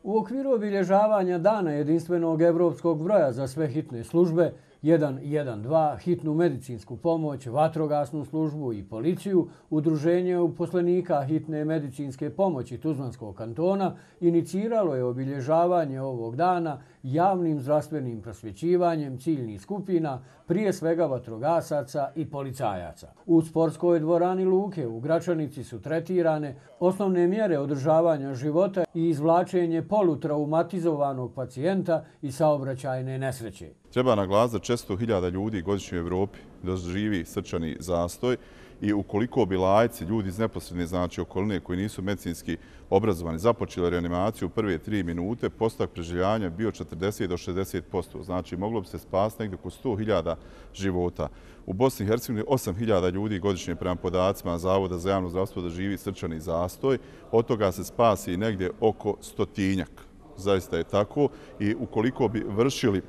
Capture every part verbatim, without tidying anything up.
U okviru obilježavanja Dana jedinstvenog evropskog broja za sve hitne službe jedan jedan dva, hitnu medicinsku pomoć, vatrogasnu službu i policiju, Udruženje uposlenika hitne medicinske pomoći Tuzlanskog kantona iniciralo je obilježavanje ovog dana javnim zdravstvenim prosvjećivanjem ciljnih skupina, prije svega vatrogasaca i policajaca. U sportskoj dvorani Luke u Gračanici su tretirane osnovne mjere održavanja života i izvlačenje polutraumatizovanog pacijenta i saobraćajne nesreće. Treba naglasiti da četiristo hiljada ljudi godišnje u Evropi doživi srčani zastoj i ukoliko bi laici, ljudi iz neposredne znači okoline koji nisu medicinski obrazovani, započeli reanimaciju u prve tri minute, postotak preživljavanja bio četrdeset do šezdeset posto. Znači moglo bi se spasiti negdje oko sto hiljada života. U Bosni i Hercegovini osam hiljada ljudi godišnje prema podacima Zavoda za javno zdravstvo doživi srčani zastoj. Od toga se spasi negdje oko stotinjak. Zaista je tako i ukoliko bi vršili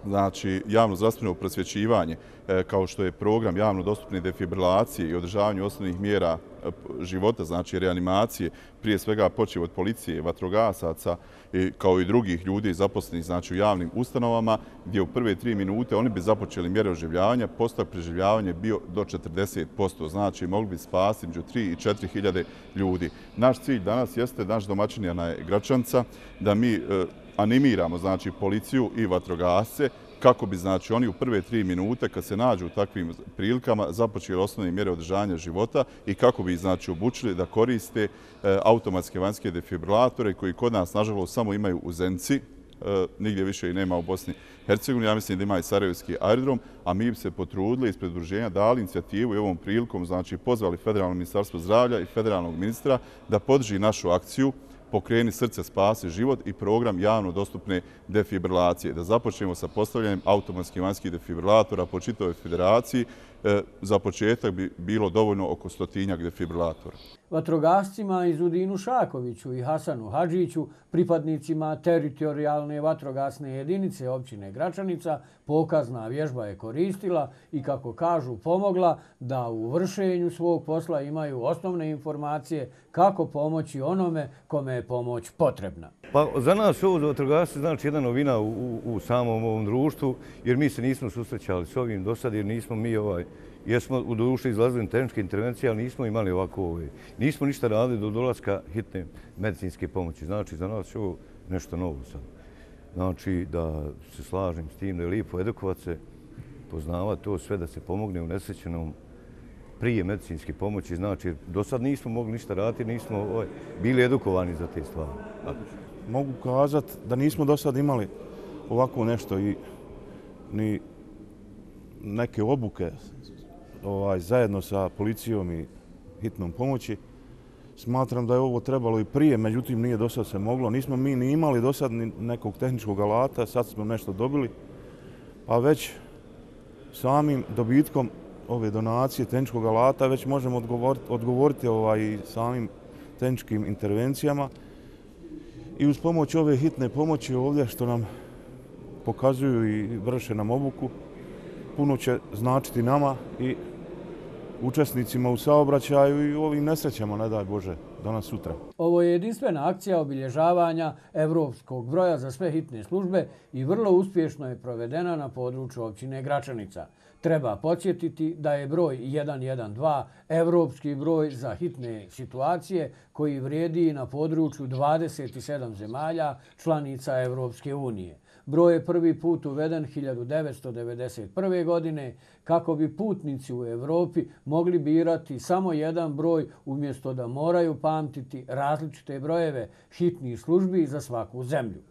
znači javno zdravstveno prosvjećivanje kao što je program javno dostupne defibrilacije i održavanje osnovnih mjera života, znači reanimacije, prije svega počev od policije, vatrogasaca kao i drugih ljudi zaposlenih znači u javnim ustanovama, gdje u prve tri minute oni bi započeli mjere oživljavanja, postotak preživljavanja bio do četrdeset posto, znači mogli bi spasiti među tri i četiri hiljade ljudi. Naš cilj danas jeste, naš domaćin je Gračanca, da mi animiramo znači policiju i vatrogasce kako bi znači oni u prve tri minute kad se nađu u takvim prilikama započeli osnovne mjere održavanja života i kako bi znači obučili da koriste e, automatske vanjske defibrilatore koji kod nas nažalost samo imaju u Zenici, e, nigdje više i nema u Bosni i Hercegovini, ja mislim da ima i Sarajevski aerodrom, a mi bi se potrudili ispred udruženja dali inicijativu i ovom prilikom znači pozvali Federalno ministarstvo zdravlja i federalnog ministra da podrži našu akciju Pokreni srce, spasi život i program javno dostupne defibrilacije. Da započnemo sa postavljanjem automatskih vanjskih defibrilatora po čitavoj federaciji. Za početak bi bilo dovoljno oko stotinjak defibrilatora. Vatrogascima Izudinu Šakoviću i Hasanu Hadžiću, pripadnicima teritorijalne vatrogasne jedinice općine Gračanica, pokazna vježba je koristila i, kako kažu, pomogla da u vršenju svog posla imaju osnovne informacije kako pomoći onome kome je pomoć potrebna. Pa za nas ovo za vatrogasce znači jedna novina u, u, u samom ovom društvu, jer mi se nismo susrećali s ovim do sad, jer nismo mi ovaj, jesmo u duši izlazili na tehničke intervencije, ali nismo imali ovako ovaj, nismo ništa radili do dolaska hitne medicinske pomoći. Znači za nas je ovo nešto novo sad. Znači da se slažem s tim da je lijepo edukovati se, poznavati to sve da se pomogne u nesrećenom prije medicinske pomoći. Znači do sad nismo mogli ništa raditi, nismo ovaj, bili edukovani za te stvari. Mogu kazati da nismo do sad imali ovako nešto i ni neke obuke ovaj, zajedno sa policijom i hitnom pomoći. Smatram da je ovo trebalo i prije, međutim nije do sad se moglo. Nismo mi ni imali do sad ni nekog tehničkog alata, sad smo nešto dobili, a već samim dobitkom ove donacije tehničkog alata već možemo odgovoriti, odgovoriti ovaj, samim tehničkim intervencijama. I uz pomoć ove hitne pomoći ovdje što nam pokazuju i vrše nam obuku, puno će značiti nama i učesnicima u saobraćaju i u ovim nesrećama, ne daj Bože, danas sutra. Ovo je jedinstvena akcija obilježavanja evropskog broja za sve hitne službe i vrlo uspješno je provedena na području općine Gračanica. Treba podsjetiti da je broj jedan jedan dva evropski broj za hitne situacije koji vrijedi na području dvadeset sedam zemalja članica Evropske unije. Broj je prvi put uveden hiljadu devetsto devedeset prve. godine kako bi putnici u Evropi mogli birati samo jedan broj umjesto da moraju pamtiti različite brojeve hitnih službi za svaku zemlju.